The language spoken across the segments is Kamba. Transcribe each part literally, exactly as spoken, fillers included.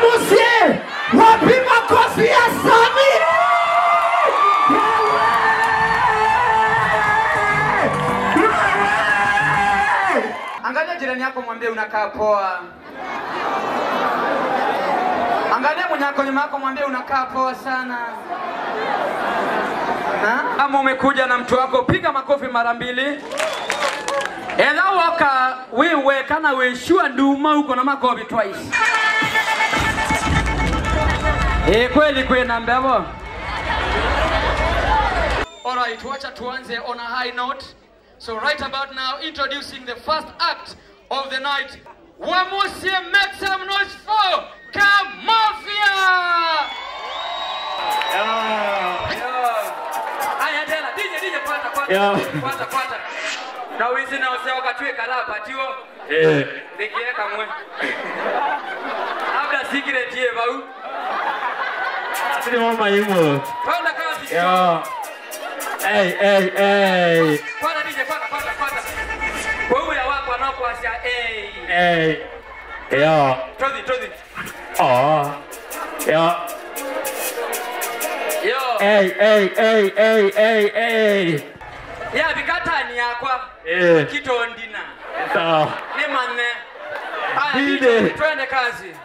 Mũsyĩ, wapi makofi ya Sami? Angalia jirani yako, mwambie, "Unakaa poa." Angalia mwenye ako nyuma yako, mwambie, "Unakaa poa sana." Na kama umekuja na mtu wako, piga makofi mara mbili. Ethĩwa woka wĩ weka na wĩ sure, nduma uko na makofi twice. Eh, kweli kwĩna mbevo. All right, wacha tuanze on a high note. So right about now, introducing the first act of the night. Wamusie, make some noise for Kamafia! Yeah. Yeah. Aya, tena, D J, D J, kwata, kwata, yeah, kwata, kwata. Na wizi na useo katwe karapa, tiwo. Eh. Ndikie kamwe. Labda secret ye vau. Asili mama imo. Twende kazi. Yeah. Hey, hey, hey. Kwanza D J, kwanza, kwanza, kwanza. Kwa huyu ya wako anaokuasia, hey. Hey. Yeah. Tozi, tozi. Oh. Yeah. Yo. Hey, hey, hey, hey, hey, hey. Ya, vikatani yakwa. Eh. Kitondina. Sawa. Nĩ mane. Aya, D J. D J, twende kazi.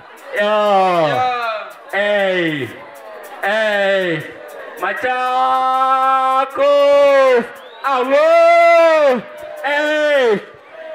Yo. Yo. Hey. Hey. Machakos. Awo. Hey.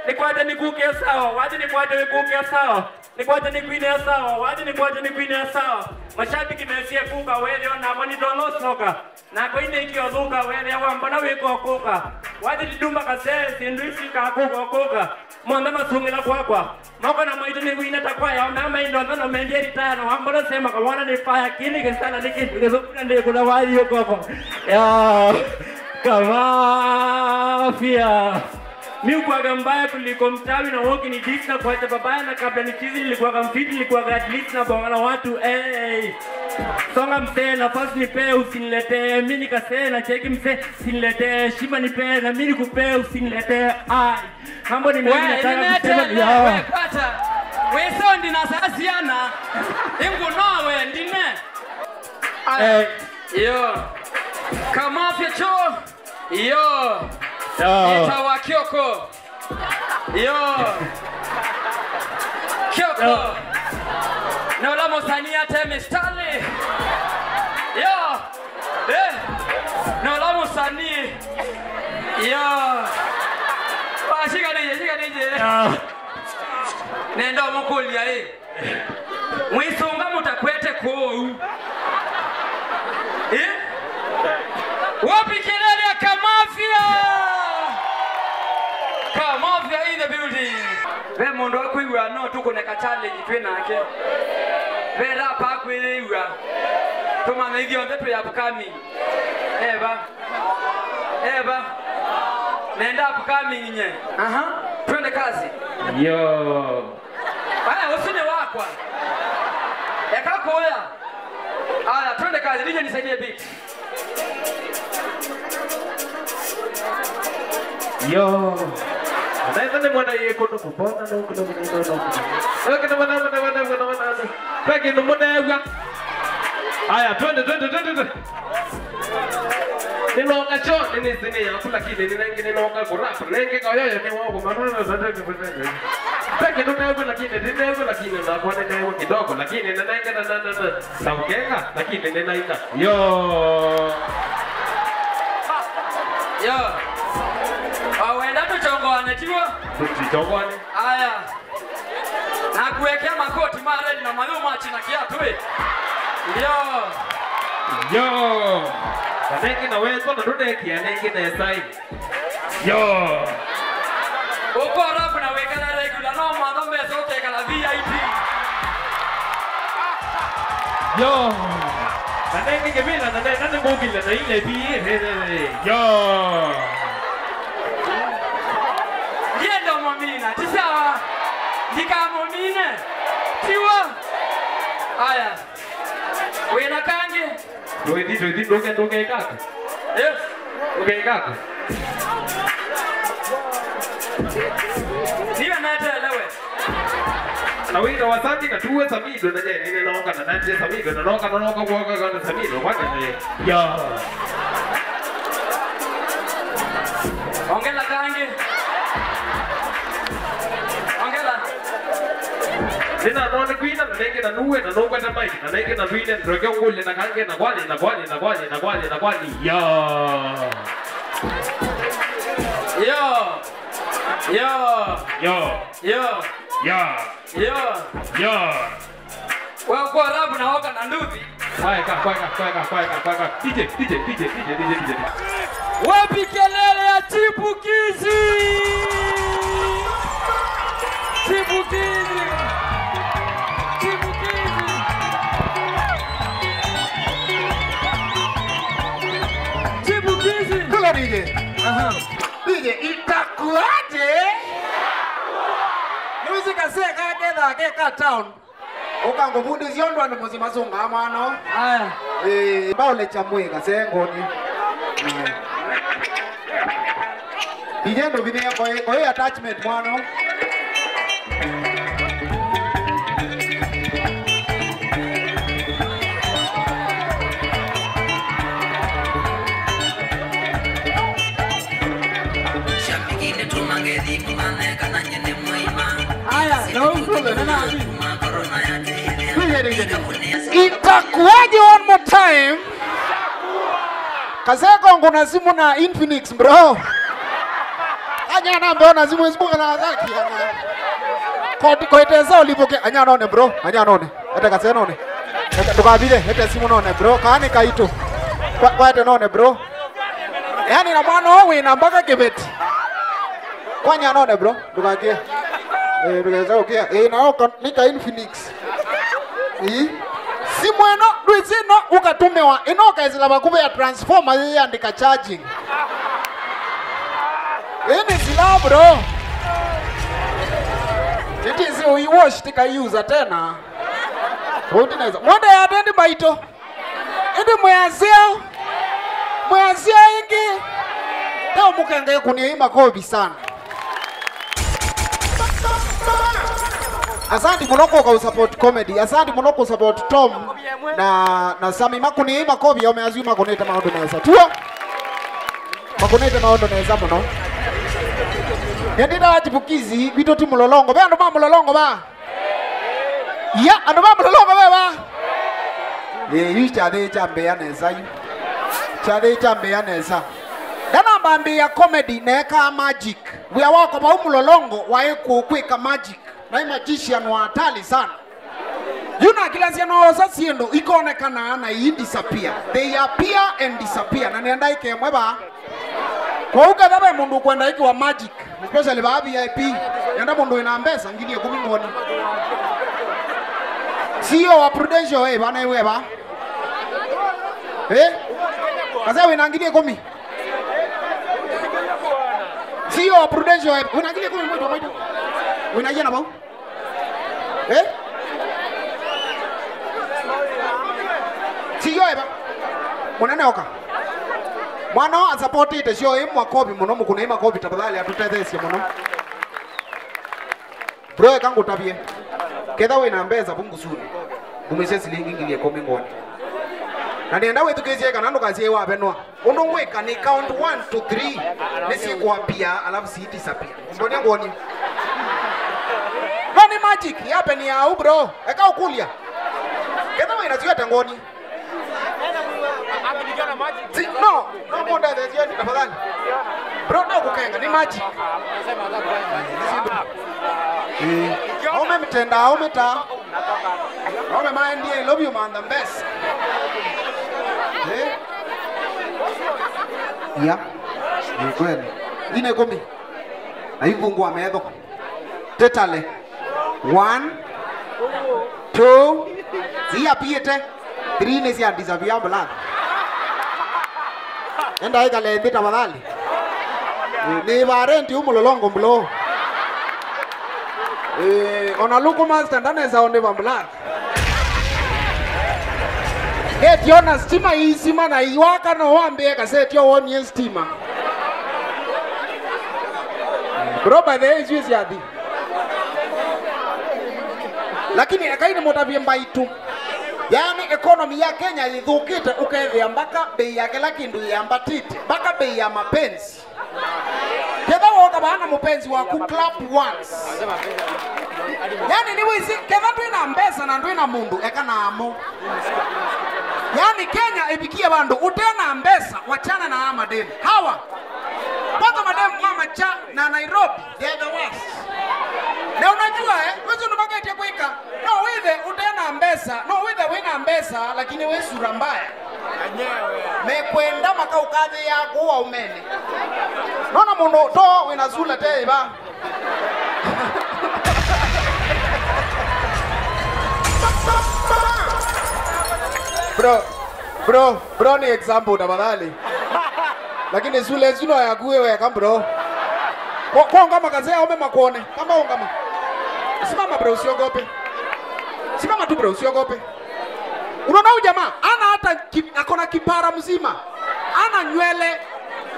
Nĩkwate nĩkuke sawa. Wathi nĩkwate nĩkuke sawa. Nĩkwate nĩkwine sawa. Wathi nĩkwate nĩkwine sawa. Mashabiki mesie kuka wethio na moni dono soka. Nakwa inĩkĩo thũka, wethĩa wambona wĩka ũkũka. Wathi nduma kasee, syĩndũ isi kakũka ũkũka. Monthe masungĩla kwakwa. Moko na maitũ nĩwina ta kwaya, ona maindo nthano mendie ritaya, na wambona sema kawona nĩ fire, kĩni kĩsala nĩ kĩndũ kĩthũku na ndĩkũla wathi ũkoko. Ya, Kamafia. Mi ukwaga mbaya kuliko mtawi na woki ni disi na kuacha babaya na kabla ni chizi nilikuwaga mfiti nilikuwaga at least na bonga na watu, hey. Songa msee nafasi nipe usiniletee, mi nikasee na cheki msee siniletee, shima nipe na mi nikupee usiniletee, ai. Mambo ni mengi we, nataka kusema, we, kwata. We sound na sasiana. Ingu no we, ndine. Eh. Yo. Kamafia cho. Yo. Yo. Ĩtawa Kioko. Yo. Kioko. Yo. Na ũla mũsanii ate mistari. Yo. Eh. Na ũla mũsanii. Yo. Wa, shika D J, shika D J. Yo. Nenda ũmũkũlya ĩ. Mwisunga mutakwete kũu. Eh? Wapi kelele ya Kamafia? Kamafia in the building. Ve mũndũ akwĩw'a no tũkũne ka challenge twĩ nake. Ve rapa akwĩw'a. Tũmanya ithyonthe twĩ upcoming. Eva. Eva. Nenda upcoming nye. Aha. Twende kazi. Yo. Aya, ũsu nĩ wakwa. Eka kũya. Aya, twende kazi. D J nisaidie beat. Yo. Naitha nĩ mwana yĩ kũndũ kũbona, no kũndũ kũbona, no kũndũ. Yo, kĩndũ mwana, mwana, mwana, mwana, mwana. Kwa kĩndũ mũnew'a. Aya, twende, twende, twende, twende. Nĩnoka cho, nĩnĩsĩ nĩ yaku, lakini nĩnenge nĩnoka kũrap. Nenge kayoyo nĩ wa kũmana. Peke nĩnew'a, lakini nĩnew'a, lakini nakwa nĩnew'a kidogo, lakini nĩnenge na, na, na, na, na ũkenga, lakini nĩnaina. Yo. Yo. Wawenda tũchongoane, tiw'o? Tũchongoane. Aya. Nakuekea makoti ma red na mayũ ma china kiatu, ĩ. Yo. Yo. Kanenge na wetwa na ndũnekia nenge nesa, ĩ. Yo. Ũko rap na wĩkala regular, no mwana mesa ũkekala V I P. Yo. Kanenge kĩvĩla na nenda nĩngũkile na ile pi. Yo. Ndienda mũmina, ti sawa. Ndikamũmine. Tiw'o. Aya. Wĩna kangĩ? Ndũithi, ndũithi, ndũke, ndũke kaka. Yes. Ndũke kaka. Niwe netelewe. Awĩta wa Sami na tuwe Samido na nyeni nĩ noka na nanje Samido na noka na noka kuoka kana Samido kwa nene. Yo. Ongela kangi. Ongela. Nina none kwina na nenge na nuwe na nokwa na mai na nenge na vile ndoke ngule na kange na kwani na kwani na kwani na kwani na kwani. Yo. Yo. Yo. Yo. Yo. Yo. Yo. Yo. Wewe kwa rap na oka na nduthi. Kwaeka, kwaeka, kwaeka, kwaeka, kwaeka. D J, D J, D J. Wapi kelele ya chipukizi? Chipukizi. Chipukizi. Chipukizi. Kula D J. Aha. D J, itakuwaje? Nĩwĩsĩ kasee kakethaa ke ka town. Ũkangũvundĩsya ũndũ andũ mũsyĩ masũngaa mwana. Aya. Ĩĩ, mbaũlekya mwĩ kasee ngoni. D J ndũvinie koĩ, koĩ attachment mwana. Aya, no usule, nena. Itakuwaje one more time? Kaseko nguna simu na Infinix, bro. Anyana mbeona simu isibuka na thaki. Kwa, kwa itesa ulipoke, anyanone, bro, anyanone. Ete kasenone. Ete, ndũkavithe, ete simu none, bro. Kaani kaitũ. Kwa, kwa ete none, bro. Yaani na mwana ũũ wĩna mpaka kĩveti. Kwanya none, bro. Ndũkakie. Eh, ndũkesa ũkia. Eh, na oka nĩ ka Infinix. Ii. Simu ĩno, ndwĩsĩ ĩno ũkatũmĩwa. Ĩno ũkaĩsĩla vakuvĩ ya transformer yĩyandĩka charging. Ĩĩ nĩ sila, bro. Ĩtĩsĩ ũiwash tikaiusa tena. Ũu ti nesa. Mwende ya atendi maitũ. Ĩndĩ mwĩasya, mwĩasya ĩngĩ. Leo mũkenge kũnia ĩ makovi sana. Asanti mũno kũka ũsupport comedy. Asanti mũno kũsupport Tom na, na Sami. Makũnie ĩ makovi, ome asu makũnĩte maũndũ nesa. Tuo. Makũnĩte maũndũ nesa mũno. Nĩndĩtawa chipukizi, gwitũ ti mũlolongo. Ve andũ ma mũlolongo va? Ya, andũ ma mũlolongo ve va? Ĩĩ, yu kyathĩ kyambĩĩa nesa yu. Kyathĩ kyambĩĩa nesa. Ndanambambĩĩa comedy neekaa magic. Wĩa wakwa vau mũlolongo waĩ kũ-, kwĩka magic. Naĩ magician wa hatari sana. Yu nakilasya noosa syĩndũ ikonekanaa na ii disappear. They appear and disappear. Na nĩenda ĩkemwe vaa. Kwoou ketha ve mũndũ ũkwenda ĩkĩwa magic, especially vaa V I P, enda mũndũ wĩna mbesa ngili ĩkũmi ngoni. C E O wa Prudential e vana iwe va? Eh? Kasa wĩna ngili ĩkũmi? C E O wa Prudential e, wĩna ngili ĩkũmi mwĩtu mwĩtu? Wĩna iana vau? Eh? Siyo eva. Mũnene oka. Mwana ũũ asapotĩte syo ĩ makovi mũno, mũkũnei makovi tafadhali, atũtetheesye mũno. Bro, eka ngũtavye. Ketha wĩna mbesa vu ngusunĩ, ngumĩsye silingi ngili ĩkũmi ngoni. Na nĩenda wĩthukĩĩsye kana ndũkasye wavenwa. Ũndũ ngwĩka nĩ count one to three, nĩsyĩkũapia, alafu si disappear. Mbonia ngwoni. No nĩ magic, yapenia au, bro. Eka ũkũlya. Ketha wĩna syo ete ngwoni. Si, no, no mũndetheesye tafadhali. Bro, no kũkenga, nĩ magic. Nĩ syĩndũ. Eh, aume mtenda, aume ta. Wame maendie, I love you man, the best. Eh? Ya. Ni kweli. Ine kumi. Na ivungua metho. Tetale. One. Two. Zia piete. Three nĩ sya disappear blood. Enda ĩkale nthĩ tafadhali. Nĩ varenti u mũlolongo mlo. Eh, ona luku master ndanesa onde va blood. Eti ona stima iisima na iwaka no wambie kaseti o wonie stima. Bro, by the way, isu syathi. Lakini ekai nĩmũtavye mbaitũ. Yaani economy ya Kenya yĩthũkĩte, ũkethĩa mpaka bei ya kĩla kĩndũ yĩambatĩte, mpaka bei ya mapenzi. Ketha woka vaa na mũpenzi waku, clap once. Yaani nĩwĩsĩ, ketha ndwĩ na mbesa na ndwĩ na mũndũ, eka namo. Yaani Kenya ĩvikie vandũ ũte na mbesa, wachana na aa mademu. Hawa. Kwanza mademu ma Macha na Nairobi, they are the worst. Na unajua, eh, wezi ndumagetie kwĩka. No wĩthe ũte na mbesa, no wĩthe wĩ na mbesa, lakini wĩ sura mbaya. Mekwenda makaũkathĩĩa kũu aumene. Nona mũndũ to wĩna sura te ĩva. Bro, bro, bro, ni example tafadhali. Lakini sura ĩsu no yaku we weka, bro. Kwa, kwa ungama kazee, aume makuone. Kama ungama. Simama, bro, usiogope. Simama tu, bro, usiogope. Unaona huyu jamaa, ana hata ki-, akona kipara mzima. Ana nywele.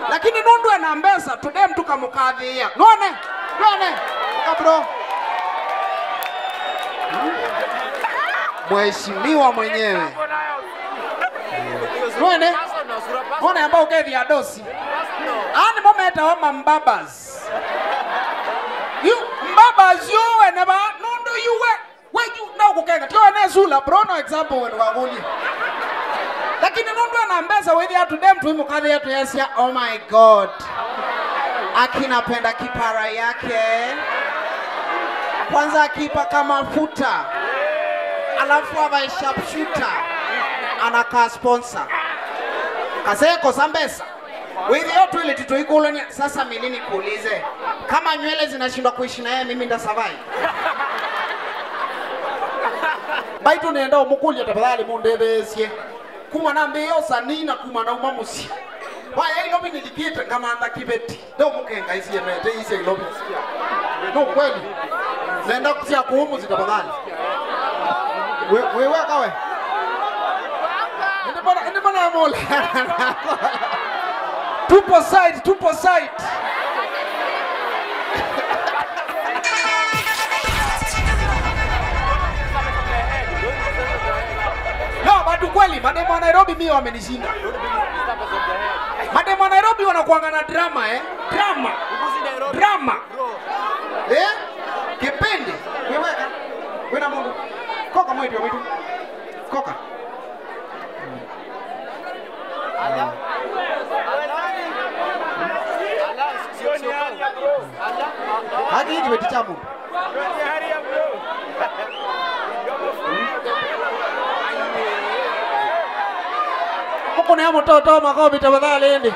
Lakini nũndũ ena mbesa, tudem tukamũkathĩĩa. None? None? Eka, bro. Mheshimiwa mwenyewe. None? None ambao ũkethĩa dosi. Ani mo metawa mambabas. Yu, mbabas yu wene ba, nũndũ yu we, we yu, no kũkenga. Tio wene sula, bro, no example wene wakulie. Lakini nũndũ ana mbesa wĩthĩa tudem tuimũkathĩa tuyasya, "Oh my God. Akinapenda kipara yake. Kwanza akipaka mafuta. Alafu avae sharpshooter. Anakaa sponsor." Kaseko sa mbesa. Wĩthĩo twĩlĩ tũikũlany'a, sasa mimi nikuulize, kama nywele zinashindwa kuishi na yeye, mimi ndasurvive? Mbaitũ nenda ũmũkũlya tafadhali mũndetheesye. Kuma nambĩĩa ũsanii na kuma nauma mũsyĩ. Waya ilo mimi nilikĩte ngamantha kĩveti. Ndo mũkenga isie mete isie ilovi. No kweli. Nenda kusia kuumu tafadhali. We, we, we, kawe. Ende bana, ende bana mola. Tupo side, tupo side. No, but kweli, mademu wa Nairobi mimi wamenishinda. Mademu wa Nairobi wanakuanga na drama, eh? Drama. Drama. Eh? Kipindi. Weweka. Wena mundu. Koka mwetu wa mwitu. Koka. Haki hiki beti chamu. Mũkũnĩa mũtoto makovi tafadhali ĩndĩ.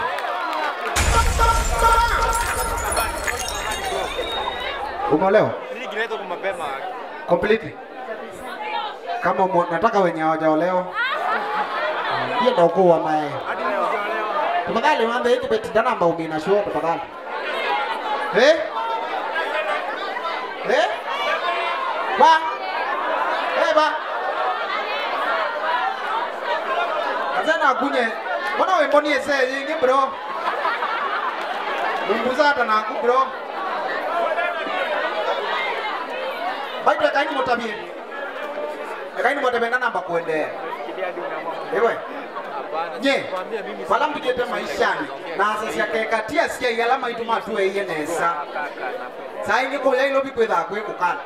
Umeolewa? Completely. Kama umo, nataka wenye hawajaolewa. Ndienda ukuwa mae. Tafadhali mwambie hiki beti ndanamba umina show tafadhali. Eh? Eh? Ba? Eh, ba? Asana kunye. Mbona wimbo ni ese yingi, bro? Umbuza hata naku, bro. Baitwe kanyi mutabie. Ekai nĩmũtave na namba kũendeea. Ĩwe. Nye, vala mbikĩte maishanĩ, na asasya kekatia asyai ala maitũ matũeie nesa. Saa ingĩ kũya Nairobi kwĩthaa kwĩ kũkala.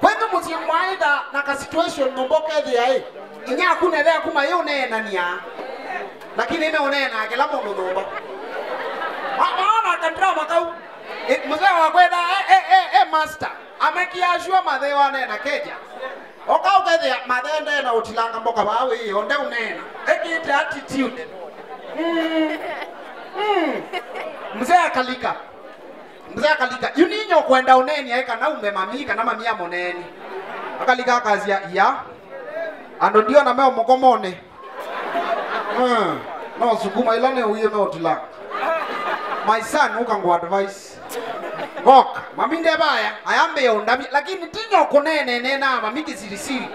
Kwenyu mũsyĩ mwaĩtha na ka situation nyũmba ũkethĩa ĩ, inya aku na ĩthe aku mayĩũneenania. Lakini ĩmeũneenaa kĩla mũndũ nyũmba. Ma-, maona kadrama kau. Ĩ, mzee wa kwetha, e, e, e, e, master. Amekia ashua mathe wanena keja. Oka ũkethĩa mathe ndena ũtilanga mboka vaa wĩĩ, onde ũnena. Ekĩte attitude. Mm. Mm. Mzee akalika. Mzee akalika. Yu ninyo kwenda ũneni aĩ kana ume mami, kana mami amũneni. Akalika akasya, "Iya. Andũ ndiona me mũkomone." Mm. No sukuma ila nĩ uye me ũtila. My son, ũka ngũ advice. Ngoka, mami ndevaya, ayambĩa ũndavya, lakini tinyo kũnene nena mami kisirisiri.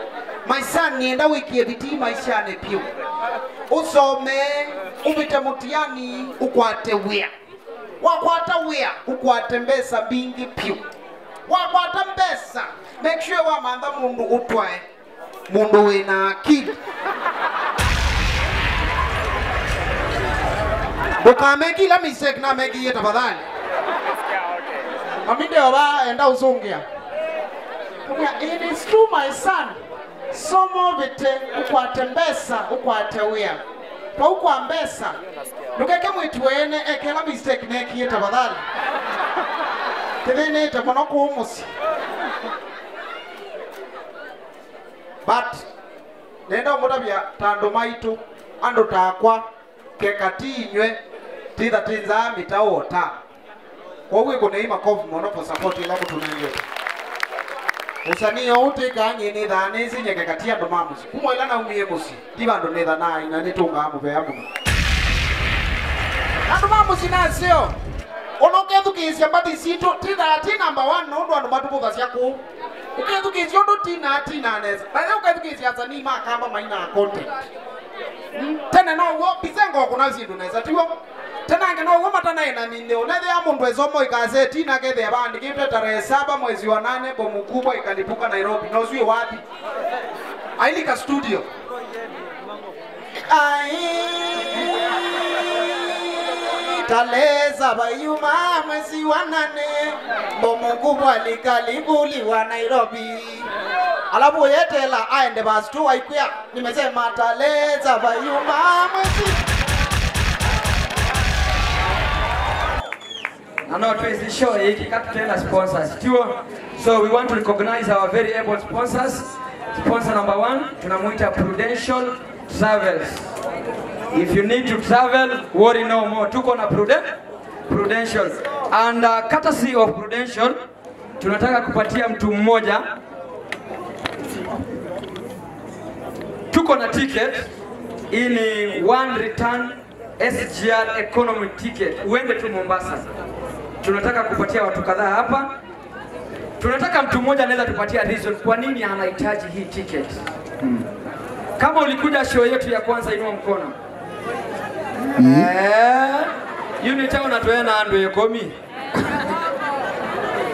My son, nienda wĩkie bidii maishanĩ piũ. Ũsome, ũvĩte mũtiani, ũkwate wĩa. Wakwata wĩa, ũkwate mbesa mbingĩ piũ. Wakwata mbesa, make sure wamantha mũndũ ũtwae. Mũndũ wĩ na akili. Ndũkameki ila mistake namekĩie tafadhali. Mami ndeo va enda ũsũngĩa. It is true, my son. Soma ũvĩte, ũkwate mbesa, ũkwate wĩa. Vau kwa mbesa, ndũkeke mwĩĩtu weene ekela mistake neekie tafadhali. Tĩthĩnĩte mũno kũu mũsyĩ. But nenda ũmũtavya ta andũ maitũ, andũ takwa, keka ti inyw'ĩ, titha ti nzaa mĩtaũ o ta. Kwoou ĩkũnei makovu mũno for support ĩla mũtũnengete. Ũsanii ũũ twĩkaa nyie nĩthaa nĩsĩ nyekeka ti andũ ma mũsyĩ. Kuma ĩla naumie mũsyĩ, ndi vandũ nĩthanaa ina nĩtũngaa mũvea mũno. Andũ ma mũsyĩ naseo, ona ũkethukĩĩsya mbathi sitũ, tithaa ti number one nũndũ andũ matũvũthasya kũũ. Ũkethukĩĩsya ũndũ tinaa tinaa nesa. Na ĩla ũkethukĩĩsya asanii ma kamba mainaa content. Mm, tene no w'o, Bisengo ũkũna syĩndũ nesa, tiw'o? Tene angĩ no w'o matanaĩ na minthĩ. Ũnethĩa mũndũ esoma ikasetinĩ akethĩa vaandĩkĩtwe tarehe saba mwezi wa nane, bomu kubwa ikalipuka Nairobi. Na ũsu wĩ wapi? Ailika studio. Ai, tarehe saba yuma mwezi wa nane, bomu kubwa likalipuliwa Nairobi. Alafu ũyetela aende verse two aikwĩa, nimesema tarehe saba yuma mwezi. Na no twĩsĩ show ĩĩ katutena sponsors, tiw'o? So we want to recognize our very able sponsors. Sponsor number one, tunamuita Prudential Travels. If you need to travel, worry no more. Tuko na Pruden-, Prudential. And, uh, courtesy of Prudential, tunataka kupatia mtu mmoja. Tuko na ticket. Hii ni one return S G R economy ticket. Uende tu Mombasa. Tunataka kupatia watu kadhaa hapa. Tunataka mtu mmoja anaweza tupatia reason kwa nini anahitaji hii ticket. Kama ulikuja show yetu ya kwanza, inua mkono. Eh, unit yao natoena andũ ĩkũmi.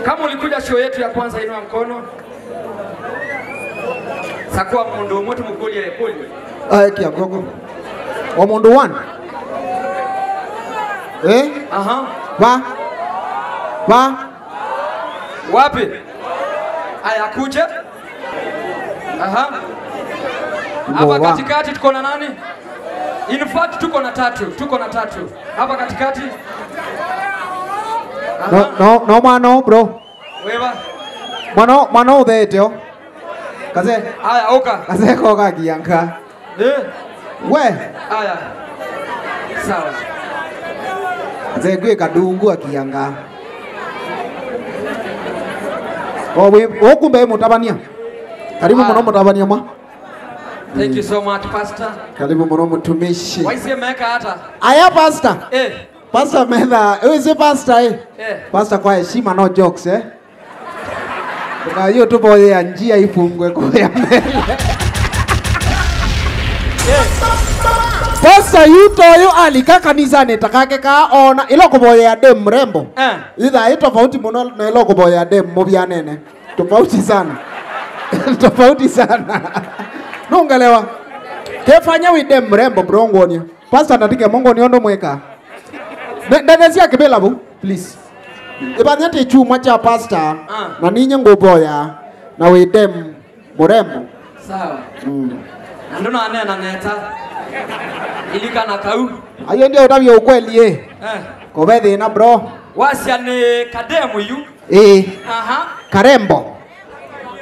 Kama ulikuja show yetu ya kwanza, inua mkono. Sakua mũndũ ũmwe tũmũkũlye ĩkũlyo. Aekia ngoko. Wa mũndũ one. Eh? Aha. Va. Va. Wapi? Aya, kuje. Aha. Hapa katikati tuko na nani? In fact, tuko na tatu, tuko na tatu. Hapa katikati. Aha. No, no, no, mwana, bro. Weva. Mwana, mwana ũtheete o. Kaze. Aya, ũka. Kaze ko kakianga. Eh. We. Aya. Sawa. Kaze kwĩ kadungu akianga. O we, o kumbe mũtavania. Karibu mũno mũtavania mwa. Thank you so much, Pastor. Karibu mũno mũtumishi. Waisie meka hata. Aya, Pastor. Eh. Pastor metha, wĩsĩ Pastor, eh? Eh. Pastor kwa heshima, no jokes, eh? Ndũkayũ tũvoyea njia ifungwe kũya mbele. Pastor yu toyo alika kanisanĩ takake ka ona ĩla kũvoyea dem mrembo. Eh. Itha ĩ tofauti mũno na ĩla kũvoyea dem mũvyanene. Tofauti sana. Tofauti sana. Nũngelewa. Kefanya wĩ dem mrembo, bro, ngwonie. Pastor, natike mongo nĩ ũndũ mwĩka. Ne-, ndene sya kĩvĩla vu, please. Ĩvanya ti chuma cha pastor, ah, na ninye ngũvoya, na wĩ dem mũrembo. Sawa. Mm. Na ndũnanena neta. Ilikana kau. Ayo ndio ũtavya ukweli, eh. Eh. Kove thĩna, bro. Wasya nĩ kademu yu. Ĩĩ. Aha. Karembo.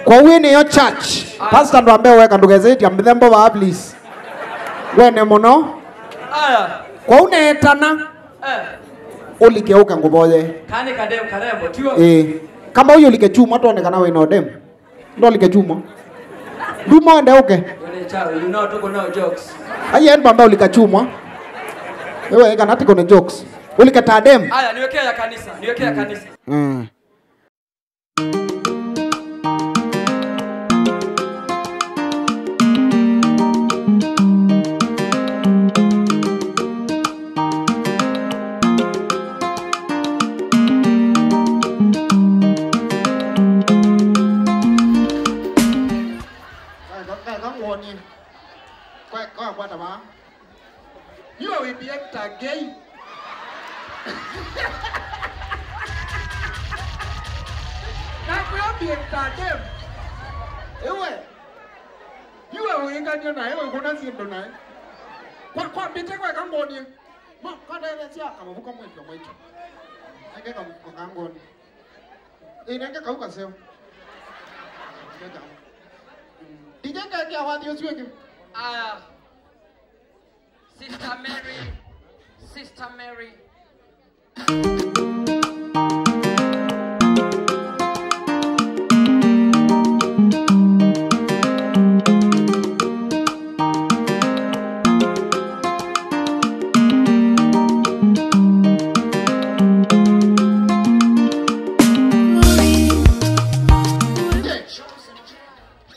Kwa wĩ nĩyo church. Aya. Pastor ndwambe weka ndũkesĩtya mĩthembo vaa, please. Wene mũno. Aya. Kwa ũneetana. Eh. Ũlike ũke ngũvoye. Kani kadem karembo, tiw'o? Ĩĩ. Kama ũyũ ũlike chuma twone kana wĩ na ũdem. Ndolike chuma. Nduma wende ũke. Wene chao, you know, tuko nao jokes. Aye, ndwambe ũlika chuma. Ewe, kana tiko na jokes. Ũlike ta dem. Aya, niwekea ya kanisa, niwekea ya kanisa. Mm. Ka, ka, ka ngwonie. Kwa, kwa, kwata vaa. You are with the actor gay. Nakwĩa be entertained. Ewe. You are wĩngania naye, wĩkũna syĩndũ naye. Kwa, kwa mbĩte kwa kangonie. Ma, kwa ndele sya kamavuko mwĩtwa mwĩtwa. Nenge ka, ka kangonie. Ĩ, nenge kau kaseo. Nenge kau. Mm. D J ngekia wathi ũsu ĩngĩ. Aya. Sister Mary. Sister Mary.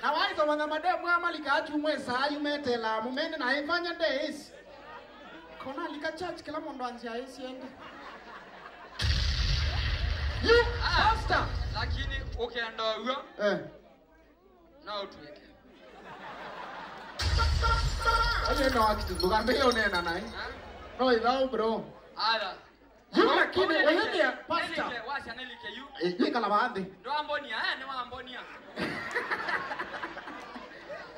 Na waisoma na mademu aa malikaa kyumwa ĩsaa yu metelaa mũmene na ĩvanya ndeĩsi. Kona lika church kĩla mũndũ anzĩa ĩsiende. You pastor. Lakini ũkenda ũw'o, eh, no ũtw'ĩke. Aye no acting, ndũkambĩe ũneena naĩ. Ha? No ĩthaũ, bro. Aya. Yu lakini, ũyĩthĩa, pastor. Nĩlike, wasya nĩlike yu. Eh, yu ĩkala vaa nthĩ. Ndwambonia, eh, nĩwambonia.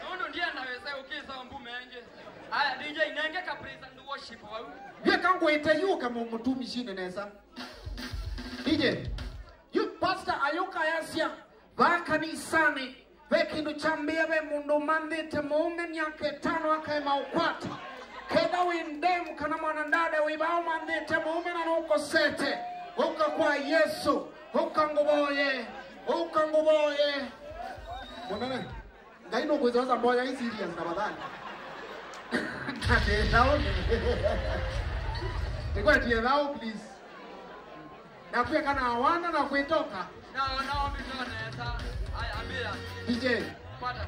Nũndũ ndienda wĩse ũkĩsa mbu mengĩ. Aya, D J, nenge ka praise and worship vau. Vyeka ngwĩte yu ũke mũ-, mũtumishine nesa. D J, yu pastor ayũka ayasya, vaa kanisanĩ. Ve kĩndũ kyambĩĩa, ve mũndũ ũmanthĩte mũũme myaka ĩtano akaema ũkwata. Ketha wĩ ndemu kana mwanadada wĩ vaa ũmanthĩte mũũme na nũkosete, ũka kwa Yesũ, ũka ngũvoye, ũka ngũvoye. Mũnene, Ngai nũkwĩsyosa mboya ĩ serious tafadhali. Ndĩthaũ. Nĩkwetie thaũ, please. Na kuweka na wana na kuitoka. No, no, mimi ndio naweza. Haya, ambia. D J. Pata.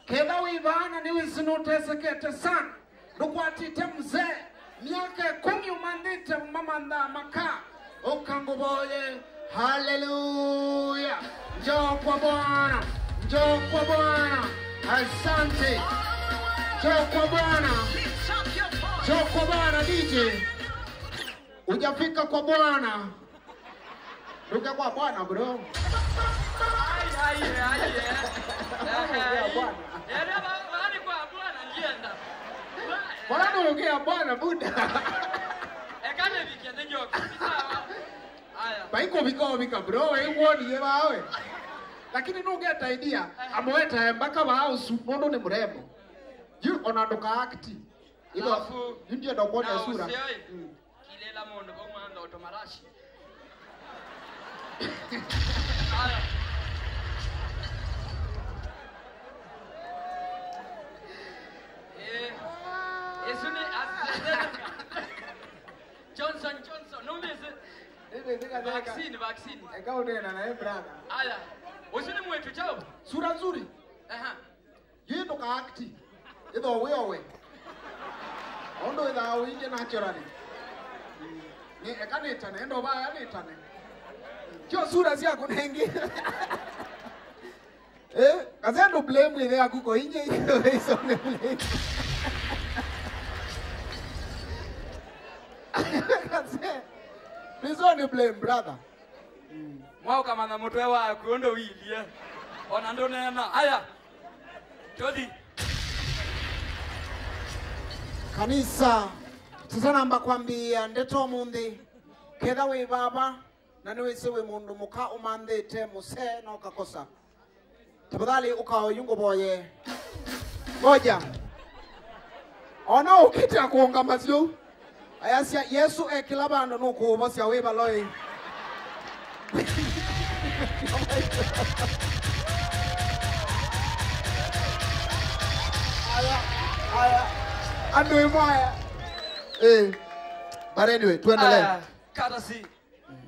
Ketha wĩ vaa na nĩwĩsĩ nũtesekete sana. Ndũkwatĩte mzee myaka ĩkũmi ũmanthĩte mamanthaa maka. Ũka ngũvoye. Haleluya. Njoo kwa Bwana. Njoo kwa Bwana. Asante. Njoo kwa Bwana. Njoo kwa Bwana, D J. Hujafika kwa Bwana. Nduke kwa Bwana, bro. Ai, ai, ai, eh. Nduke kwa Bwana. Eh, ba-, bani kwa Bwana, ngienda. Bwana, nduke kwa Bwana, Buddha. Ekane vike, ndio, sawa. Aya. Baiko vika, vika, bro, we uoni ye bawe. Lakini nũngeta idea, amweta mpaka vaa ũsu, nũndũ nĩ mũrembo. Yu, ona ndũka act. Ilo, alafu, yu ndienda kuona na sura. Ũseo, mm. Kilela mũndũ vau mantha ũtũmarashi. Aya. Eh, ĩsu nĩ AstraZeneca. Johnson, Johnson, nũmĩsĩ? Nĩmĩsĩ katheka. Vaccine, vaccine. Eka ũneena naye, brother. Aya. Ũsu nĩ mwĩtu chao. Sura nzuri. Aha. Yu ndũka act. Ĩtho wĩ owe. Ũndũ wĩthaa ũingĩ naturally. Nĩ eka nĩtane, enda ũvaya nĩtane. Kyo sura syaku nengĩ. Eh, kase ndũ blame ĩthe yaku ko inye isonge blame. Kase. Please don't blame, brother. Mwaũkamanya mũtwe waku ũndũ wilyĩ. Ona ndũneena. Aya. Tũthi. Kanisa, tũtanamba kwambĩĩa ndeto ũmũnthĩ, ketha wĩ vava na nĩwĩsĩ wĩ mũndũ mũka ũmanthĩte mũsee na ũkakosa, tafadhali ũka oyu ngũvoye. Ngoja. Ona ũkĩte kũũngama syũ. Ayasya, Yesũ e kĩla vandũ nũkũũvosya wĩ valoi. Aya, aya. Andũ ĩmwe aya. Eh. But anyway, tuendelee. Aya, katasi.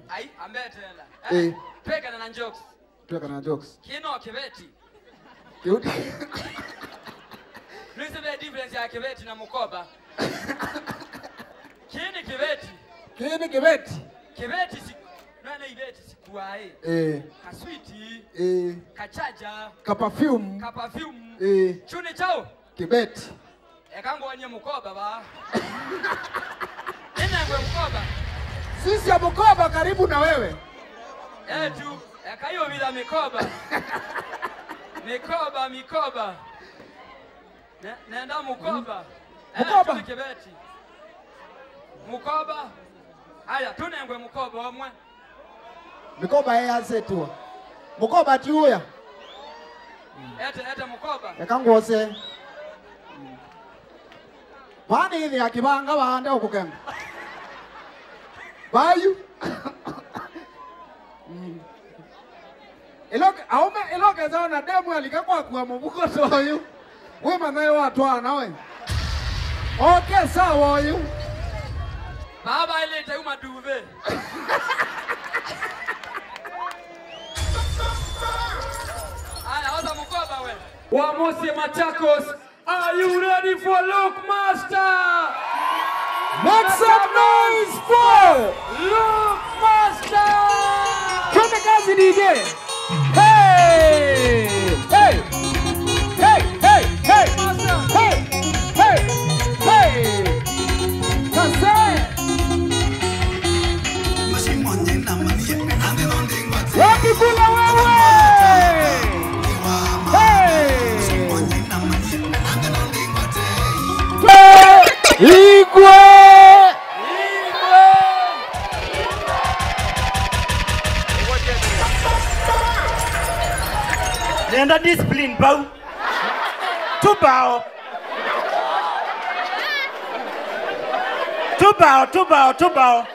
Ai, ambetela. Eh. Eh. Twekana na jokes. Tweka na jokes. Kĩno kĩveti. Kĩuti. Nĩsĩ ve difference ya kĩveti na mũkoba. Kĩĩ nĩ kĩveti. Kĩĩ nĩ kĩveti. Kĩveti si-, nene Iveti sikuaĩ. Eh. Kaswiti. Eh. Kachaja. Kaperfume. Kaperfume. Eh. Chuni chao. Kibeti. Eka ngwony'e mũkoba vaa. Nĩnengwe mũkoba. Sisya mũkoba karibu na wewe. Etu, eka yũvitha mĩkoba. Mĩkoba, mĩkoba. Ne-, nenda mũkoba. Eh, mũkoba. Tũnĩ kĩveti. Mũkoba. Aya, tũnengwe mũkoba ũmwe. Mĩkoba ĩyasĩtwe. Mũkoba ti ũya. Ete, ete mũkoba. Eka ngwose. Vaa nĩ ĩthĩa kĩvanga vaande ũkũkenga. Vayu. Mm. Ĩlo, aũme, ĩlo kesa ona demu alika kwakua mũvuko ta ũyũ. Wĩmanya watwaana we. Oke sawa ũyũ. Baba ilete uma duve. Aya, oza mũkoba we. Wa Mose Machakos, are you ready for Luke Master? Make some noise for Luke Master! Twende kazi, D J. Hey! Hey! Hey! Hey! Hey! Master! Hey! Hey! Hey! Master! Wapi kula wewe? Hey! Igwe! Nenda discipline bau. Tũmbao. Tũmbao, tũmbao, tũmbao.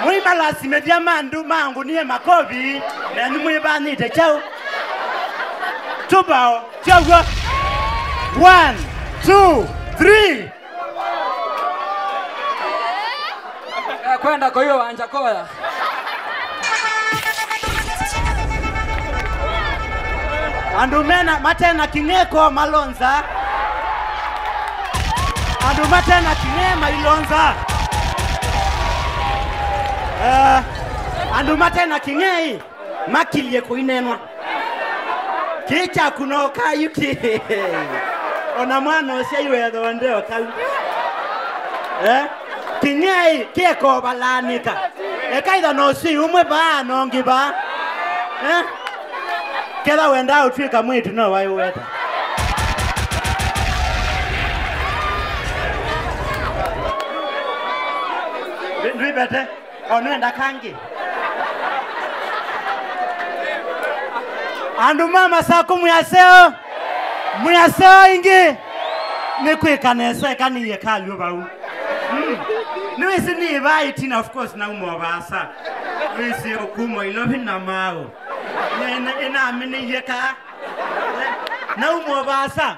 Mwĩmalasimĩthya ma andũ ma ngũnie makovi, nenyu mwĩvanĩte kyaũ? Tũmbao, kyaw'o. One, two, three. Eh, kwenda kwa hiyo wanja koya. Andũ mena, matena kĩng'eko malonza. Andũ matena kĩng'e mailonza. Eh, andũ matena kĩng'e ĩ, makilye kũinenwa. Kĩĩ kyaku no kayu kĩ. Ona mwana ũsyaiwe ethĩwa ndeo kau. Eh? Kĩng'ei kĩkovalanĩka. Ekaitha no ũsĩ ũmwe vaa na ũngĩ vaa. Eh? Ketha wendaa ũtw'ĩka mwĩĩtu no waĩ ũweta. Ndwĩvete. O nĩwenda kangĩ. Andũ ma Masaku mwĩ aseo. Mwĩ aseo ĩngĩ. Nĩ kwĩka nesa eka nĩye kalyũ vau. Mm. Nĩwĩsĩ nĩ vaa ĩtina, of course, nauma o vaasa. Nĩwĩsĩ ũkuma Ilovi na maũ. Nĩ-, nĩ-, nĩnamĩnĩie kaa. Nauma o vaasa.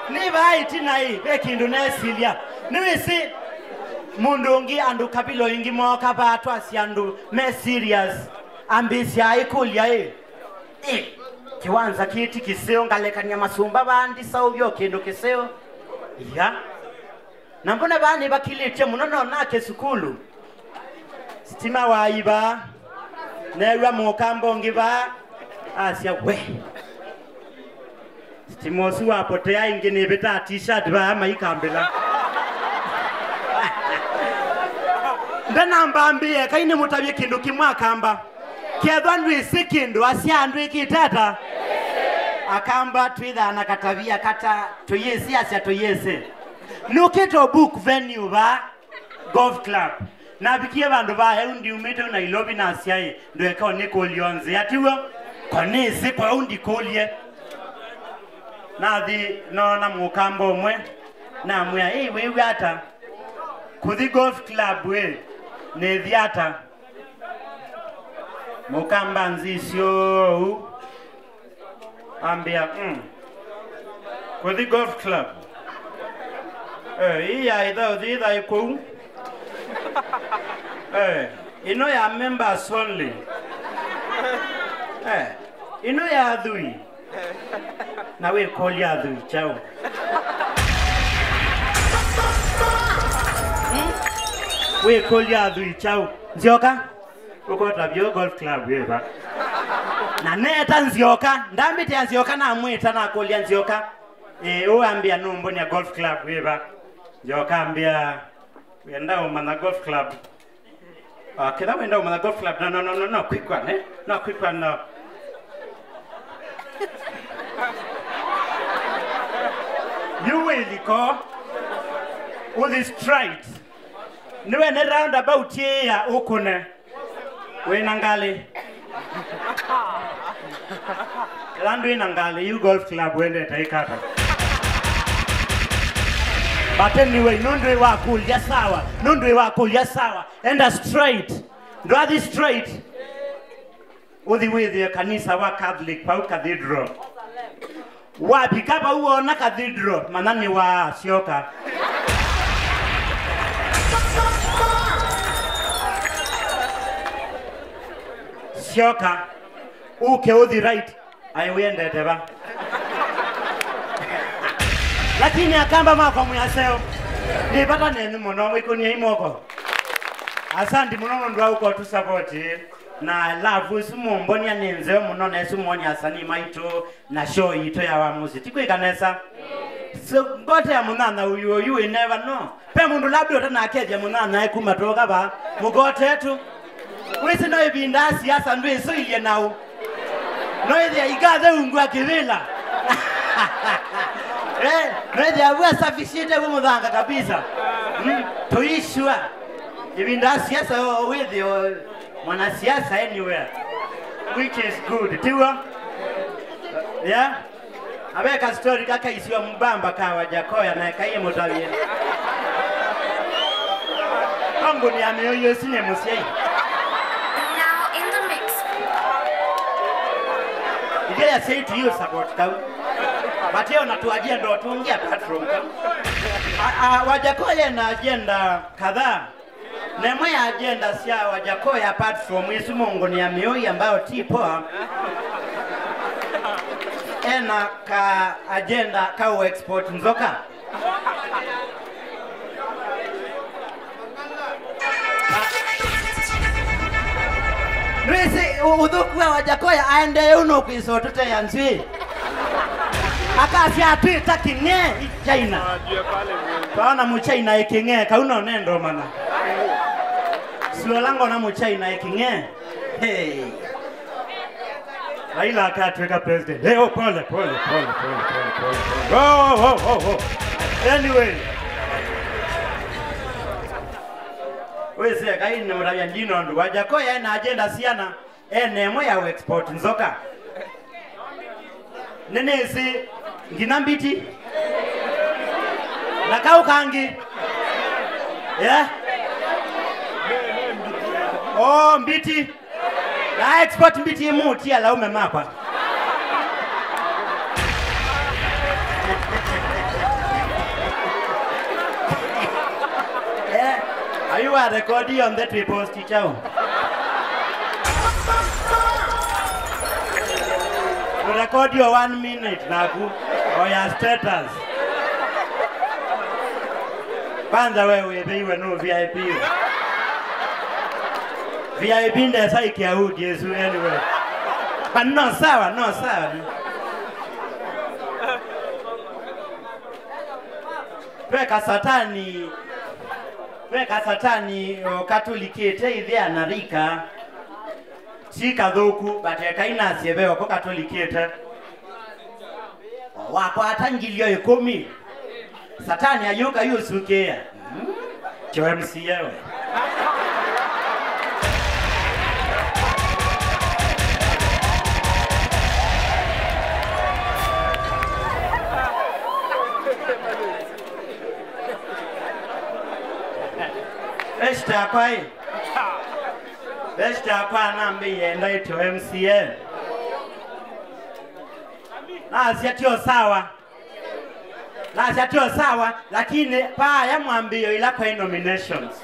Nĩ vaa ĩtina ĩ, ve kĩndũ nesilya. Nĩwĩsĩ mũndũ ũngĩ, andũ kabila ĩngĩ mooka vaa twasya andũ me serious. Ambĩsya ĩkũlya ĩ, ĩ, kĩwanza kĩĩ ti kĩseo, ngalekany'a masũmba vaa ndisaũvya o kĩndũ kĩseo? Ia. Na mbona vaa nĩvakilĩtye mũno, no nake sukulu. Sitima waĩ vaa. Neew'a mũkamba ũngĩ vaa. Asya, we. Sitima ũsu wapotea ĩngĩ nĩvĩtaa t-shirt vaa maikambĩla. Ndanamba ambĩe, kai nĩmũtavye kĩndũ kĩmwe akamba. Kethwa ndwĩsĩ kĩndũ, asya ndwĩkĩte ata? Akamba twĩthaa na katavia kata tũyĩsĩ, asya tũyĩsĩ. Nũkĩte book venue vaa. Golf Club. Navikie vandũ va eu ndiumĩte Nairobi nasyaĩ, ndweka ũnĩkũlyo nzĩa, tiw'o? Ko nĩsĩ, kwoou ndikũlye. Nathi noona mũkamba ũmwe, namwĩa, "Ĩ, wĩw'a ata? Kũthi Golf Club ĩ, nĩthi ata?" Mũkamba nzisyo ũu. Ambĩa, "Mm. Kũthi Golf Club. Eh, ii ya ĩtha ũthi ĩthaĩ kũu. Eh, ĩno ya members only. Eh, ĩno ya athwii. Na wĩkũlya athwii kyaũ? Mm? Wĩkũlya athwii kyaũ? Nzyoka." Ũkota vyũ golf club wĩva? Na neta Nzyoka, ndambĩtĩa Nzyoka, namwĩta, nakũlya Nzyoka, "Ĩ, ũambĩa nũmbonĩa golf club wĩva?" Nzyoka ambĩa, "Wenda ũmanya golf club?" Ah, kĩla wenda ũmanya golf club, no, no, no, no, no, quick one, eh? No, quick one, no. You will go with the straight. Nĩwe nĩ roundabout ĩya ũkũne. Wĩna ngalĩ. Ĩla ndwĩna ngalĩ, yu golf club wendete ĩkata. But anyway, nũndũ wĩ wa kũlya sawa, nũndũ wĩ wa kũlya sawa, enda straight. Ndwathi straight. Ũthi wĩthĩe kanisa wa Catholic pau Cathedral. Wavika vau wona Cathedral, manya nĩ wa Syoka. Syoka, ũke ũthi right, ai wĩendete va? Lakini akamba makwa mwĩaseo, nĩ vata nenyu mũno, mwĩkũniei moko. Asanti mũno nũndũ wa ũko tũsapoti. Na love ĩsu mũmbonia nĩ nzeo mũno, na ĩsu mwonia asanii maitũ na show yitũ ya Wamusi. Ti kwĩka nesa? So, ngote ya mũnyanya ũyũ, you will never know. Pe mũndũ labda ũtanakethya mũnyanya e kuma twoka va, mũgotetu. Wĩsĩ no ĩvinda ya siasa ndwĩsũilye naũ. No ĩthĩa ikathe ungua kĩvĩla. Eh, no ĩthĩa vu asafishĩte vu mũthanga kabisa. Mm, tũisua. Ĩvinda ya siasa o wĩthĩo mwanasiasa anywhere, which is good. Tiw'o? Yeah? Aveka story kakaisiwa mbamba ka Wajakoya na ekaie mũtavye. Konguni ya mĩũyũ ĩsu nĩ mũsyai. Now in the mix. Ithe ya say to you support kau. But yeye unatuajia ndo tungia apart from kau. A, a, Wajakoya na agenda kadhaa. Na ĩmwe ya agenda sya Wajakoya, apart from ĩsu mũngũnĩa mĩũi ambayo ti poa, ena ka agenda ka ũ export nzoka. Nĩwĩsĩ ũ-, ũthũku wa Wajakoya aendee ũu nũkwĩsa ũtũtea nzw'ĩĩ. Akasya atwĩta kĩng'ee China. Twaona Mũchina ĩkĩng'ee, kau no nendo mana. Suola ngona Mũchina ĩkĩng'ee. Hey. Raila akatwĩka president. Hey, oh, pole, pole, pole. Oh, oh, oh, oh. Anyway. Wĩsĩ kai nĩ mũtavya ndino ndũ. Wajakoya ena agenda siana. Ene ĩmwe ya export nzoka. Nĩnĩsĩ nginya mbiti. Na kau kangĩ. Yeah? Oh, mbiti. Na export mbiti ĩmwe ũtia laume makwa. Eh, are you a record on the triple? Kyaũ? Tũrekodi o one minute naku. O ya status. Kwanza we wĩthĩiwe nũ V I P we. V I P ndesa ikia udi ĩsu anyway. But no sawa, no sawa. Ve kasatani, ve kasatani o katũlikĩte ĩthea na rika. Ti kathũku, but ekai nasye ve oko katũlikĩte. Wakwata ngilio ĩkũmi. Satani ayũka yũsukĩĩa. Mm. Kyo M C A we. Esta kwai. Esta kwa nambĩie ndaityo M C A. Nasya tio sawa. Nasya tio sawa, lakini paaya mwambĩĩo ila kwai nominations.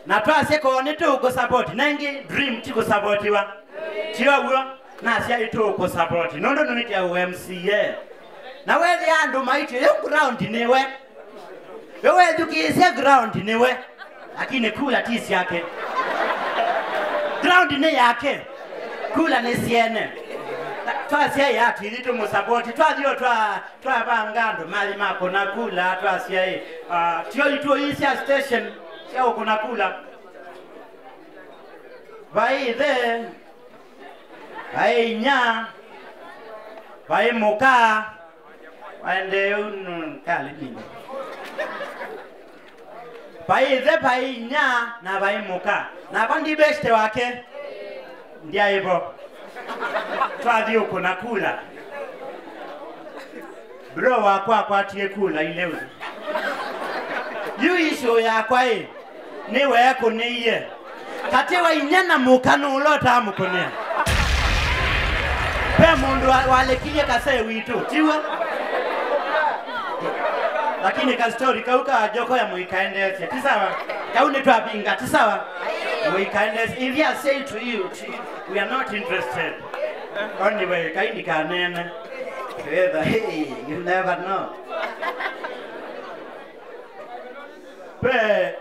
Na twasya koo nĩtũkũsupport, nengĩ dream ti kũsupportiwa. Tio w'o, nasya ĩtũkũsupport. Nũndũ nũnĩtya ũ M C A. Na wethĩa andũ maityo, yu ground nĩwe. Yu wethukĩĩsya ground nĩwe. Lakini kula ti syake. Ground nĩ yake. Kula nĩ syene. Twasya ĩ ati ithyĩ tũmũsapoti. Twathi o twa, twavanga andũ mathi ma kũna kula, twasya ĩ, ah, tio itũĩ sya station sya ũkũna kula. Vai ĩthe, vai inya, vai mũka. Waendee ũu nũkalĩlile. Vai ĩthe, vai inya, na vai mũka. Nakwa ndi beshte wake. Ndyaĩ vo. Twathi ũkũna kula. Bro wakwa akwatie kula ileu. Yu issue yakwa ĩ, nĩweekũnĩie. Katĩ wa inya na mũka nũũ ũla ũtaamũkũnĩa? Ve mũndũ wa- walekilye kasee witũ, tiw'o? Lakini kastori kau ka Joko ya mũikaendeesye, ti sawa? Kau nĩtwavinga, ti sawa? Mũikaendeesye. If I say to you, to you, we are not interested. Anyway, kai ndikaneene. Fedha, hey, you never know. Ve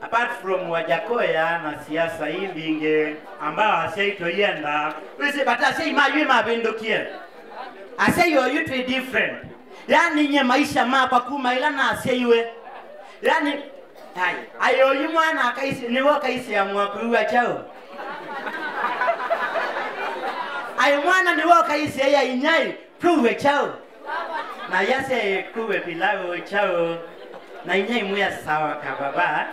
Apart from Wajakoya na siasa ii mbingĩ, ambao asyai tũienda, wĩsĩ vata asyai ma yu mavĩndũkie. Asyai oyu twĩ different. Yani, nye maisha makwa kuma ila nasyaiwe. Yani, ai, ai oyu mwana akaisi, nĩwe ũkaisĩamwa kwĩw'a kyaũ? Ai mwana nĩwe ũkaisĩa ya inyai, kwĩw'a kyaũ? Na yasya ĩkuwe pilau chao. Na inya imwĩa sawa kababa.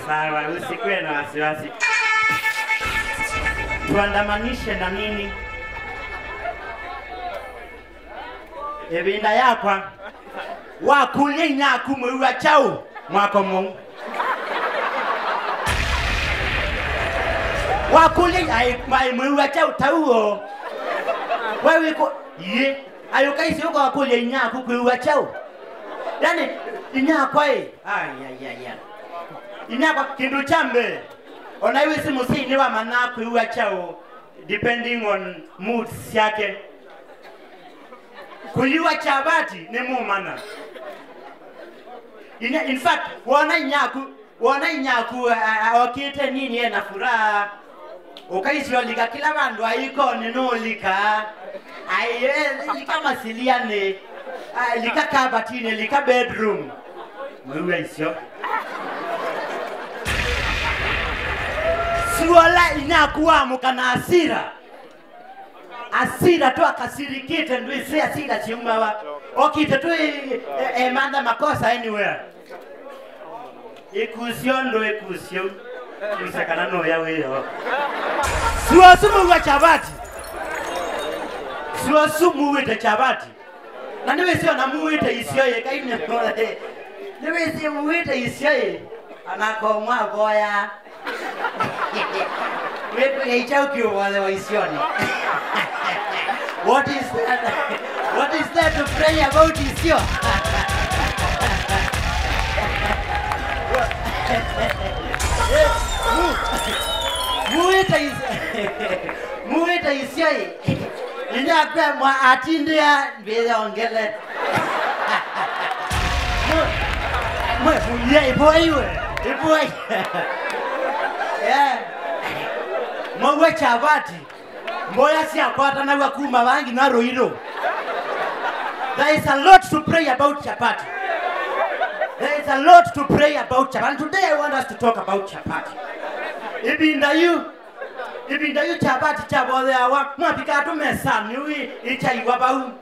Sawa, usikuwe na wasiwasi. Tuandamanishe na nini? Ĩvinda yakwa. Wakũlya inyaku mwĩw'a kyaũ mwako mũu? Wakũlya ai, ai mwĩw'a kyaũ tauo? We wĩkũ? Yĩ. Ayũka isi ũkawakũlya inyaku kwĩw'a kyaũ? Yani, inyakwa ĩ. Ayayaya. Inyakwa, kĩndũ kya mbee, ona ĩwĩsĩ mũsyai nĩwamanyaa kwĩw'a kyaũ depending on moods syake. Kũyĩwa chavati nĩ mũmanya. Inya, in fact, wona inyaku, wona inyaku a- a- okĩte nini ena furaha, ũkaisya ũlika kĩla vandũ aikonĩ nũũlika. Ai, eh, lika masilianĩ, ah, lika kabatinĩ, lika bedroom. Mwĩw'a isyo. Suola inyaku wamũka na asira. Asira tu akasirikite, ndwĩsĩ asira syaumawa. Okite tu e- e- emantha makosa anywhere. Ĩkusyo ndũ ĩkusyo. Kusa kana noya wĩyo. Suosu mũw'a chavati. Suosu mũwĩte chavati. Na nĩwĩsĩ ona mũwĩte isyo yĩkaine. Nĩwĩsĩ mũwĩte isyo ĩ. Anakomwa voya. Wĩtw'ĩka kyaũ kĩũvolewa isyonĩ? What is that? What is there to pray about isyo? Mu- muĩte is- muĩte isyo ĩ. Inyakwa mwa atindĩa mbĩyongele. Mwe, mwe, muye, ipoi we, ipoi. Yeah. Mwaua chavati. Mboya syakwatanaw'a kuma vangi na Ruiru. There is a lot to pray about chapati. There is a lot to pray about chapati. And today I want us to talk about chapati. Ĩvinda yu, ĩvinda yu chapati kyavotheawa, mwavika atu mesanĩ, yu ĩ- ĩkyaiwa vau.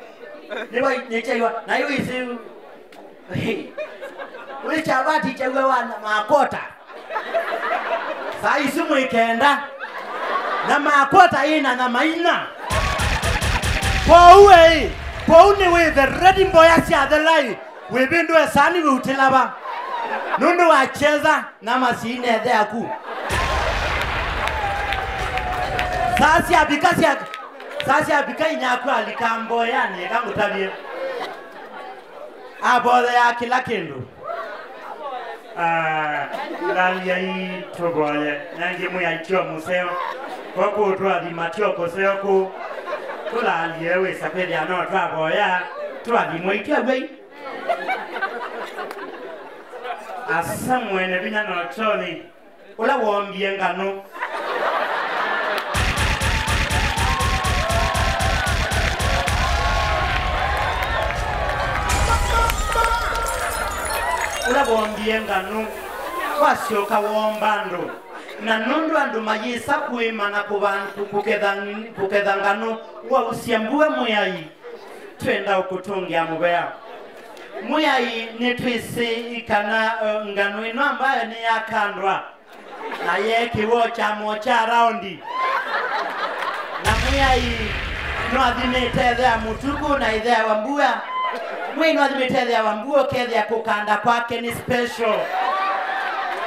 Nĩwa nĩkyaiwa, na yu ĩsĩ Wĩ chavati kyaw'a wa nyama akota. Saa isu mwĩ kenda. Nyama akota ĩ na nyama ina. Kwoou ĩ, kwoou nĩ wĩthe ready mboya syathela ĩ, wĩvĩndũe sani wĩutĩla va. Nũndũ wa kyetha nyama siinethe aku. Saa syavika sya, saa syavika inyaku alika mboyanĩ, ĩka ngũtavye. Avotheaa kĩla kĩndũ. Ah, lalyai tũvoye. Nangĩ mwĩai tyo mũseo. Kwa kũtũathima tyo kũseo kũ. Tũlalye wĩsa kwĩthĩa no twavoya. Tũathimwe itwaw'ei. Asa mwene vinya no toni. Ũla woombie nganũ. Ũla woombie nganũ wasyoka woomba andũ. Na nũndũ andũ mayĩsa kũĩma na kũva-, kũ-, kũketha, kũketha nganũ, wausya mbua, Mwĩai, twenda ũkũtũngĩa mũvea. Mwĩai, nĩtwĩsĩ kana, eh, nganũ ĩno ambayo nĩyakandwa. Na yeekĩwa kyamo kya raundi. Na Mwĩai nwathimĩte ĩthea mũtukũ na ĩtheawa mbua. Mwĩai nwathimĩte ĩtheawa mbua, ũkethĩa kũkanda kwake nĩ special.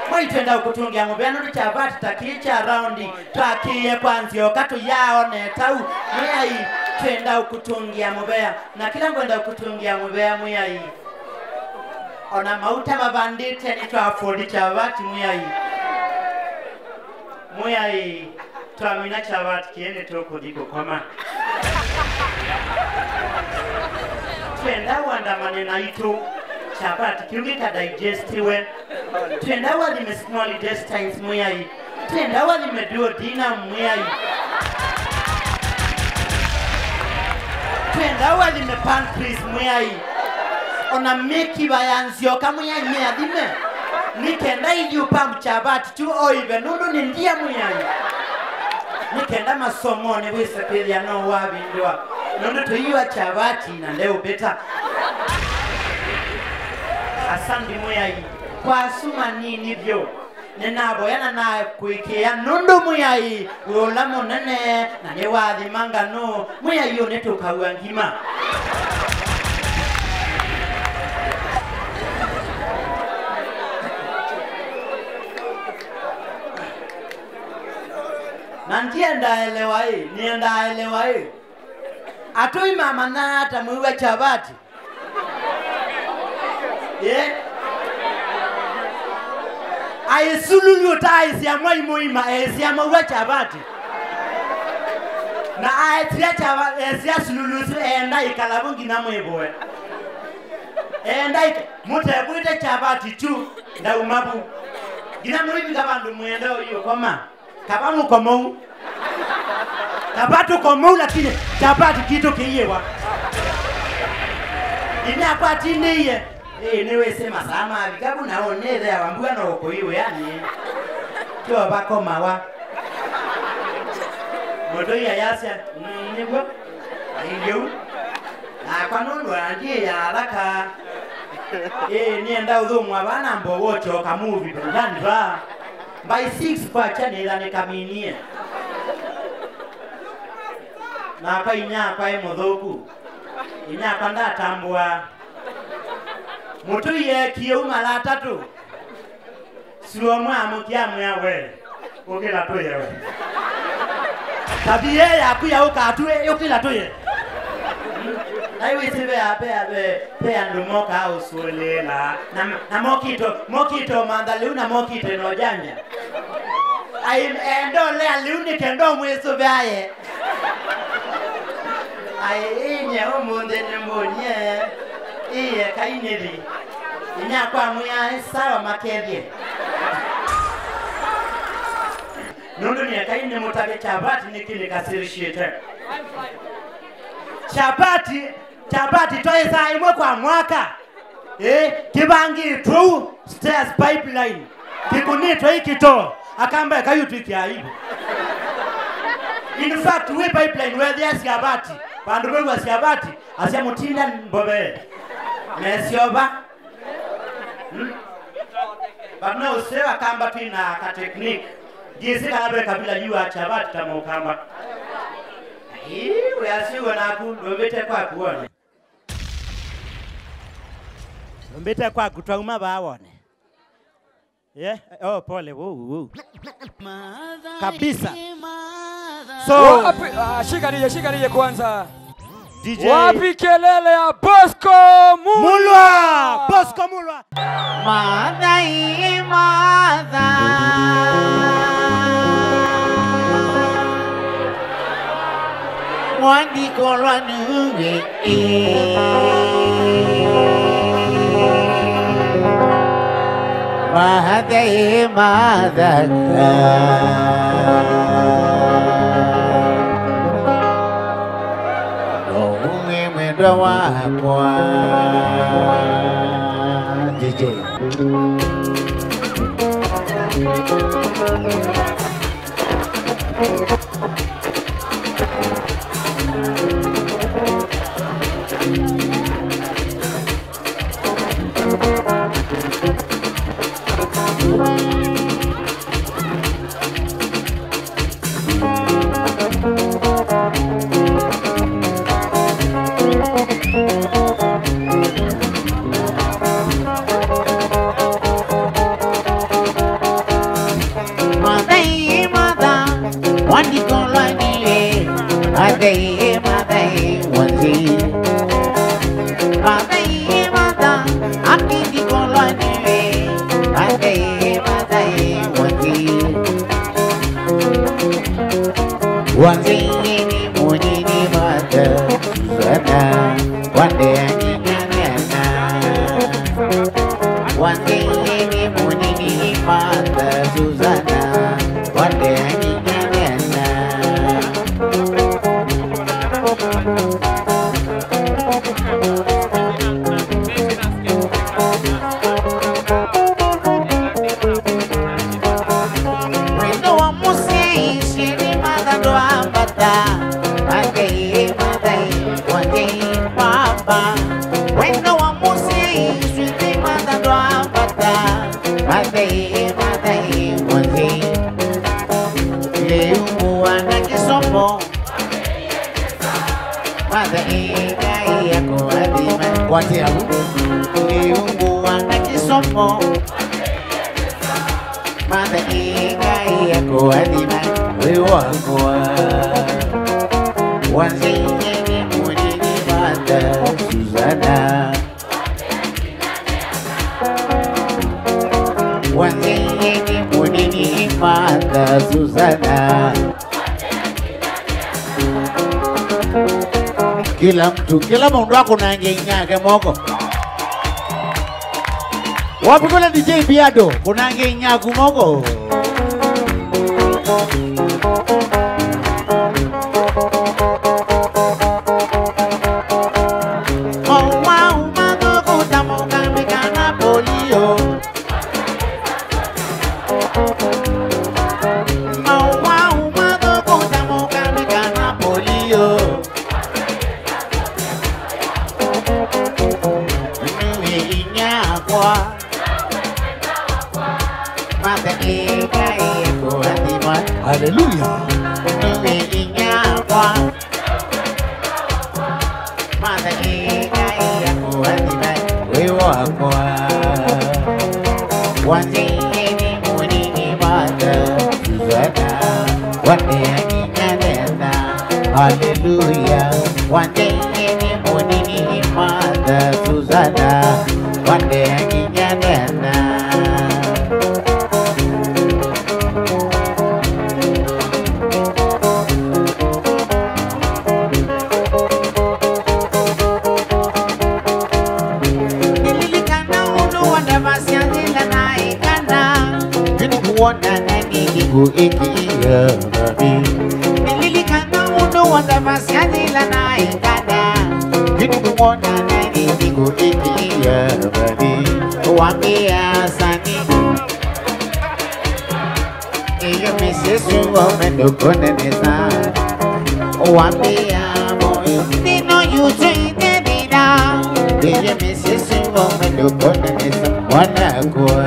Mwĩai twenda ũkũtũngĩa mũvea nũndũ kyavati ta kĩĩ kya raundi twakĩie kwa nzyoka tũyaaone tau. Mwĩai twenda ũkũtũngĩa mũvea. Na kĩla ngwenda ũkũtũngĩa mũvea, Mwĩai. Ona mauta mavandĩte nĩtwa afford kyavati, Mwĩai. Mwĩai, twamina kyavati kĩĩ nĩtũkũthi kũkoma. Twenda ũandamane naitũ, kyavati kĩu gĩka digestiwe. Twenda wathime small intestines, Mwĩai. Twenda wathime duodenum, Mwĩai. Twenda wathime pancreas, Mwĩai. Ona mĩkiva ya nzyoka, Mwĩai, mĩathime. Nĩ kenda ithyĩ pump kyavati tu oive, nũndũ nĩ ndia, Mwĩai. Nĩ kenda masomonĩ wĩse kwĩthĩa no wavindũa, nũndũ tũiwa kyavati na ndeũmbĩta. Asante, Mwĩai, kwa asu manini vyũ. Nĩnavoya na nakũĩkĩĩa nũndũ Mwĩai wĩ ũla mũnene, na nĩwathima nganũ. Mwĩai ũnĩtũkaua ngima. Na ndiendaelewa ĩ, niendaelewa ĩ. Atũi mamanyaa ata mwĩw'a kyavati? Ye? Aĩ sululu ũtaaĩsya mwai mũima eĩsya maw'a kyavati. Na aetia kyava-, esia sululu ũsu eenda ĩkala vu nginya mwĩvũe. Eenda ĩka-, mũtevw'ĩte kyavati kyu, ndauma vu. Nginya mũivika vandũ mwĩenda ũiũkoma. Kava mũkomou. Kava tũkomou, lakini kyapati kitũ kĩiĩwa. Inyakwa atindĩie. Ĩĩ, nĩwĩsĩ masaa mavika vu na ũnĩtheawa mbua no ũkũi wĩanĩ. Tyo vakomawa. Mũtũi ayasya, "Mm, nĩw'o. Ailyeu. Nakwa nũndũ andiĩ ya athaka. Ĩĩ, nĩenda ũthũmũa vaa na mbowo kyoka movie burudani vaa." By six kwakya nĩthanĩkaminie. Nakwa inyakwa e mũthũku. Inyakwa ndatambũa. Mũtũi eekie u mala atatũ. Suo mwamũkĩa mwĩa we. Ũkĩla tũye we. Tabia yaku ya ũkatu, ĩ, ũkĩla tũye. Nai wĩsĩ ve, ve, ve, ve andũ mokaa ũsũlĩla. Na, na mokito, mokito mantha lĩu na mokite no janja. Ai, endolea lĩu nĩ kenda ũmwĩsũvĩaye. Ai, inyie ũmũnthĩ nĩ mbũnyie. Iye kai nĩthi. Inyakwa mwĩa, sawa makethie. Nũndũ nĩekai nĩmũtavye kyavati nĩkĩ nĩkasĩlĩsyĩte. Kyavati, kyavati twaĩsaa ĩmwe kwa mwaka. Ĩ, kĩvangĩtwe ũu, stairs pipeline. Kĩkũnĩtwe ikito, akamba ĩkai ũtwĩkĩa aibu. In fact, wĩ pipeline wethĩa syavati, vandũ vew'a syavati, asya mũtinda mbove. Mesyova. Hmm? But no, ũseo akamba twĩ na ka technique. Ndiĩsĩ kana ve kabila yu wa kyavati ta mũkamba. Ĩĩ, wĩasiw'o naku, ndũmbĩte kwaku wone. Ndũmbĩte kwaku twauma vaa wone. Yeah, oh, pole, wou, wou. Kabisa. So, wapi? Ah, shikariye, shikariye kwanza. D J. Wapi kelele ya Bosco Mulwa? Mulwa! Bosco Mulwa! Mathai matha. Mwandikolwa nuwe. Mathei, mathei, no ume mwendwa wakwa. D J. Mathei, matha, wandiko lwa niwe. Mathei, mathei, wanzi. Mathei, matha, akindiko lwa niwe. Mathei, mathei, wanzi. Wanzi ni munini matha, Susana, wande anyinyang'ena. Wanzi ni munini matha, Susana, wande anyinyang'ena. Wendo wa mũsyai, syeni matha ndwambata. Mathei, mathei, wanzi baba. Wendo wa mũsyai, syeni matha ndwambata. Mathei, mathei, wanzi. Lĩu ngũa na kĩsomo. Mathei, Ngai akũathime. Kwatia vu. Lĩu ngũa na kĩsomo. Mathei, Ngai akũathime. Wĩ wakwa. Wanzĩie nĩ mũnini matha, Susana. Wanzĩie nĩ mũnini matha, Susana. Kila mtu, kila mũndũ akũnange inyake moko. Wapi kule D J Biado? Kũnange inyaku moko. Mau, mau, mathũku ta mũkambĩ kana polio. Mau, mau, mathũku ta mũkambĩ kana polio. Nĩ inyakwa. Matha ĩ Ngai akũathima. Haleluya. Nĩ inyakwa. Matha ĩ Ngai akũathime wĩ wakwa. Wanzĩie nĩ mũnini matha, Susana, wandeanginya nena. Haleluya. Wanzĩie nĩ mũnini matha, Susana, wandeanginya nena. Nĩlilikana ũndũ wandavasya yĩla naĩ kana. Nĩnĩkũwona na nĩnĩkũĩkĩĩa vamĩ. Nĩlilikana ũndũ wandavasya yĩla naĩ kana. Nĩnĩkũwona na nĩnĩkũĩkĩĩa vamĩ. Wambĩa sani. Iyo mĩsyĩ ĩsu waume ndũkũnenesa. Wambĩa moyo nĩno yutwĩte thĩna. Iyo mĩsyĩ ĩsu waume ndũkũnenesa. Mwanakwa.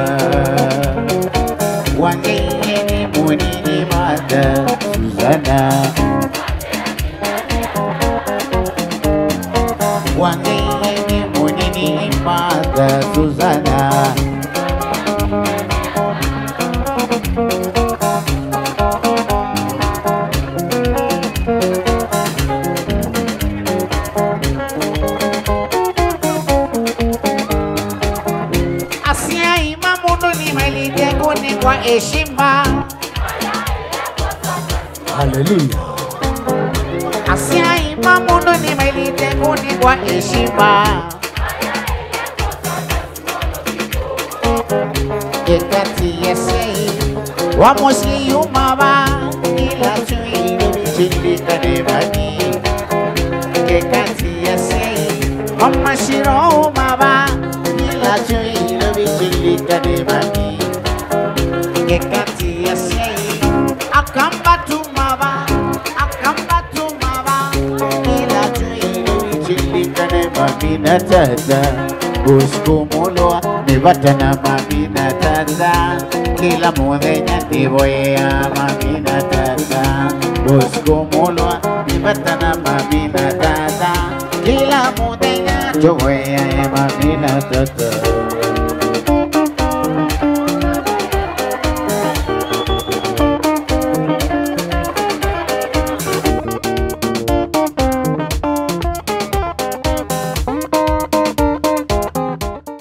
Wanzĩie nĩ mũnini matha, Susana. Wanzĩie nĩ mũnini matha, Susana. Asyai ma mũndũ nĩmaĩlĩte kũnengwa heshima. Haleluya. Asyai ma mũndũ nĩmaĩlĩte kũnengwa heshima. Kekati ya sei, wa mũsyĩ yuma va, ila twĩ Nairobi, chindikane mami. Kekati ya sei, wa mashiro uma va, ila twĩ Nairobi, chindikane mami. Kekati ya sei, akamba tuma va, akamba tuma va, ila twĩ Nairobi, chindikane mami na tata. Usiku mulwa, nĩ vata na mami na tata. Kĩla mũthenya nĩvoyea mami na tata. Usiku mulwa, nĩ vata na mami na tata. Kĩla mũthenya tũvoyea mami na tata.